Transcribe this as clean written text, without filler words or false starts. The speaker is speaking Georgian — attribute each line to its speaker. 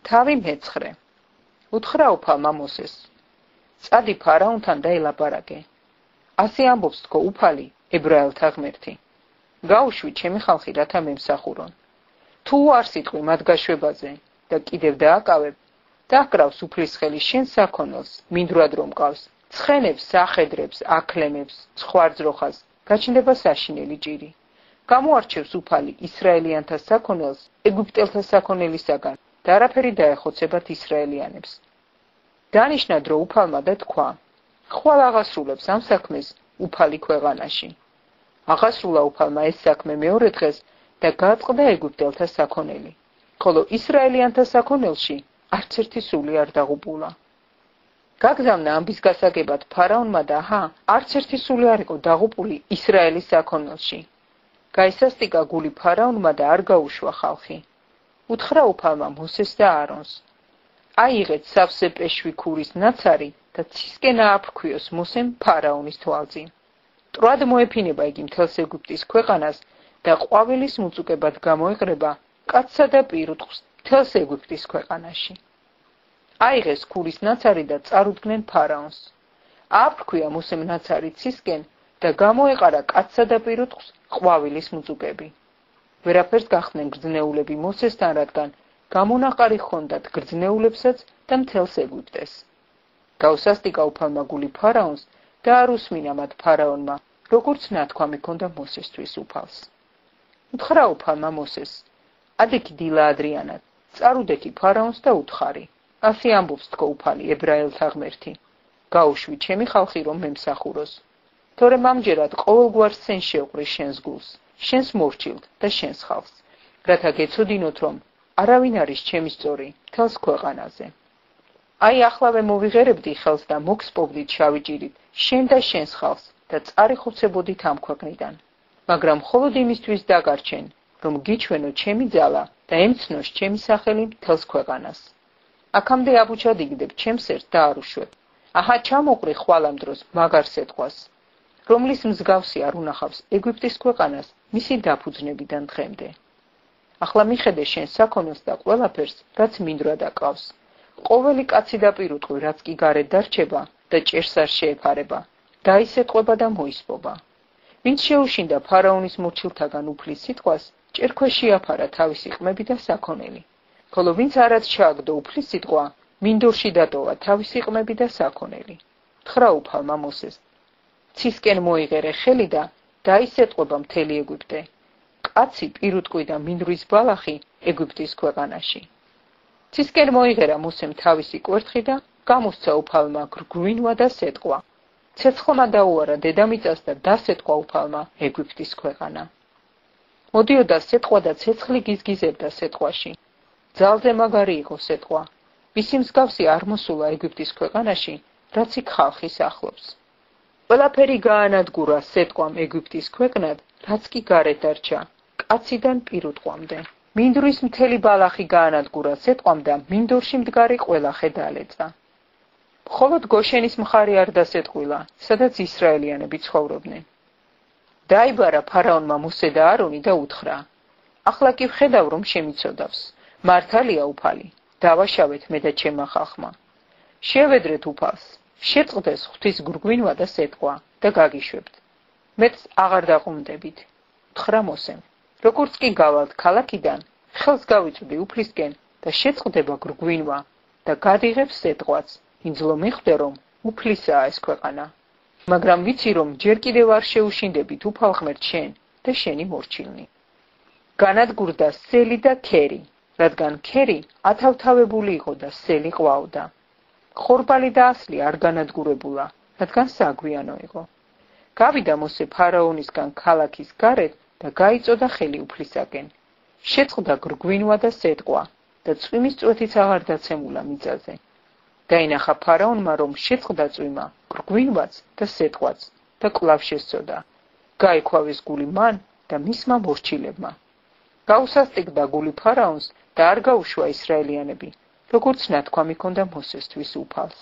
Speaker 1: თავი მეცხრე. უთხრა უფალმა მოსეს. წადი ფარაონთან და ელაპარაკე. ასე ამბობს თქო უფალი, ებრაელთა ღმერთი. გაუშვი ჩემი ხალხი, რათა მემსახურონ. თუ არ სიტყვი მათ გაშვებაზე და კიდევ დააკავებ, დაკრავს უფლისხელი შენ საქონელს, მინდვრად რომ მყავს, ცხენებს, სახედრებს, აკლემებს, ცხვარძროხას, გაჩნდება საშინელი ჭირი. გამოარჩევს უფალი ისრაელიანთა საქონელს ეგვიპტელთა საქონელისაგან და არაფერი დაეხოცებათ ისრაელიანებს. დანიშნა დრო უფალმა და თქვა, ხვალ აღასრულებს ამ საქმეს უფალი ქვეყანაში. აღასრულა უფალმა ეს საქმე მეორე დღეს და გაწყდა ეგვიპტელთა საქონელი, ხოლო ისრაელიანთა საქონელში არც ერთი სული არ დაღუპულა. გაგზავნა ამბის გასაგებად ფარაონმა და არც ერთი სული არ იყო დაღუპული ისრაელის საქონელში. გაისასტიკა გული ფარაონმა და არ გაუშვა ხალხი. უთხრა უფალმა მოსეს და აარონს. აიღეთ სავსე პეშვი ქურის ნაცარი და ცისკენ ააფრქვიოს მოსემ ფარაონის თვალწინ. მტრად მოეფინება იგი მთელს ეგვიპტის ქვეყანას და ყვავილის მუწუკებად გამოეყრება კაცსა და პირუტყვს მთელს ეგვიპტის ქვეყანაში. აიღეს ქურის ნაცარი და წარუდგნენ ფარაონს. ააფრქვია მოსემ ნაცარი ცისკენ და გამოეყარა კაცსა და პირუტყვს ყვავილის მუწუკები. ვერაფერს გახდნენ გრძნეულები მოსესთან, რადგან გამონაყარი ჰქონდათ გრძნეულებსაც და მთელს ეგვიპტეს. გაუსასტიკა უფალმა გული ფარაონს და არ უსმინა მათ ფარაონმა, როგორც ნათქვამი ჰქონდა მოსესთვის უფალს. უთხრა უფალმა მოსეს, ადექი დილა ადრიანად, წარუდექი ფარაონს და უთხარი. ასე ამბობს თქო უფალი, ებრაელთა ღმერთი. გაუშვი ჩემი ხალხი რომ მემსახუროს. თორემ ამჯერად ყოველგვარ სცენ შევყრი შენს გულს, შენს მორჩილთ და შენს ხალხს, რათა გეცოდინოთ, რომ არავინ არის ჩემი სწორი მთელს ქვეყანაზე. აი ახლავე მოვიღერებდი ხელს და მოგსპობდით შავი ჭირით შენ და შენს ხალხს და წარიხოცებოდით ამ ქვეყნიდან. მაგრამ მხოლოდ იმისთვის დაგარჩენ, რომ გიჩვენო ჩემი ძალა და ემცნოს ჩემი სახელი მთელს ქვეყანას. აქამდე აბუჩად ჩემს ერთ და არ უშვებ. აჰა ჩამოყრი ხვალ ამ დროს მაგარ სიტყვას, რომლის მსგავსი არ უნახავს ეგვიპტის ქვეყანას მისი დაფუძნებიდან დღემდე. ახლა მიხედე შენ საქონელს და ყველაფერს, რაც მინდვრად აკავს. ყოველი კაცი და პირუტყვი, რაც კი გარეთ დარჩება და ჭერს არ შეეფარება, დაისეტყვება და მოისპობა. ვინც შეუშინდა ფარაონის მორჩილთაგან უფლის სიტყვას, ჭერქვეშ შეაფარა თავისი ყმები და საქონელი. ხოლო ვინც არაც ჩააგდო უფლის სიტყვა, მინდორში დატოვა თავისი ყმები და საქონელი. უთხრა უფალმა მოსეს, ცისკენ მოიღერე ხელი და დაისეტყვება მთელი ეგვიპტე. კაცი, პირუტყვი და მინდვრის ბალახი ეგვიპტის ქვეყანაში. ცისკენ მოიღერა მოსემ თავისი კვერთხი და გამოსცა უფალმა გრგვინვა და სეტყვა. ცეცხლმა დაუარა დედამიწას და დასეტყვა უფალმა ეგვიპტის ქვეყანა. მოდიოდა სეტყვა და ცეცხლი გიზგიზებდა სეტყვაში. ძალზე მაგარი იყო სეტყვა. მისი მსგავსი არ მოსულა ეგვიპტის ქვეყანაში, რაც იქ ხალხის ახლობს. ყველაფერი გაანადგურა სეტყვამ ეგვიპტის ქვეყნად, რაც კი გარეთ დარჩა, კაციდან პირუტყვამდე. მინდვრის მთელი ბალახი გაანადგურა სეტყვამ და მინდორში მდგარი ყველა ხე დაალეწა. მხოლოდ გოშენის მხარე არ დასეტყვილა, სადაც ისრაელიანები ცხოვრობდნენ. დაიბარა ფარაონმა მოსე და არონი და უთხრა, ახლა კი ვხედავ, რომ შემიცოდავს. მართალია უფალი, დავაშავეთ მე და ჩემმა ხალხმა. შევედრეთ უფალს, შეწყდეს ღვთის გრგვინვა და სეტყვა და გაგიშვებთ. მეც აღარ დაყუნდებით. უთხრა მოსემ, როგორც კი გავალთ ქალაქიდან, ხელს გავიწვდი უფლისკენ და შეწყდება გრგვინვა და გადიღებს სეტყვაც, ინძლო მიხვდე, რომ უფლისაა ეს ქვეყანა. მაგრამ ვიცი, რომ ჯერ კიდევ არ შეუშინდებით უფალ ღმერთ შენ და შენი მორჩილნი. განადგურდა სელი და ქერი, რადგან ქერი ათავთავებული იყო და სელი ყვაოდა. ხორბალი და ასლი არ განადგურებულა, რადგან საგვიანო იყო. გავიდა მოსე ფარაონისგან ქალაქის გარეთ და გაიწოდა ხელი უფლისაკენ. შეწყდა გრგვინვა და სეტყვა და წვიმის წვეთიც აღარ დაცემულა მიწაზე. დაინახა ფარაონმა, რომ შეწყდა წვიმა, გრგვინვაც და სეტყვაც და კვლავ შესწოდა. გაიქوافეს გული მან და მისმა მორჩილებმა. გაუსასტიკდა გული ფარაონს და არ გაუშვა ისრაელიანები, როგორც ნათქვამი ჰქონდა მოსესთვის უფალს.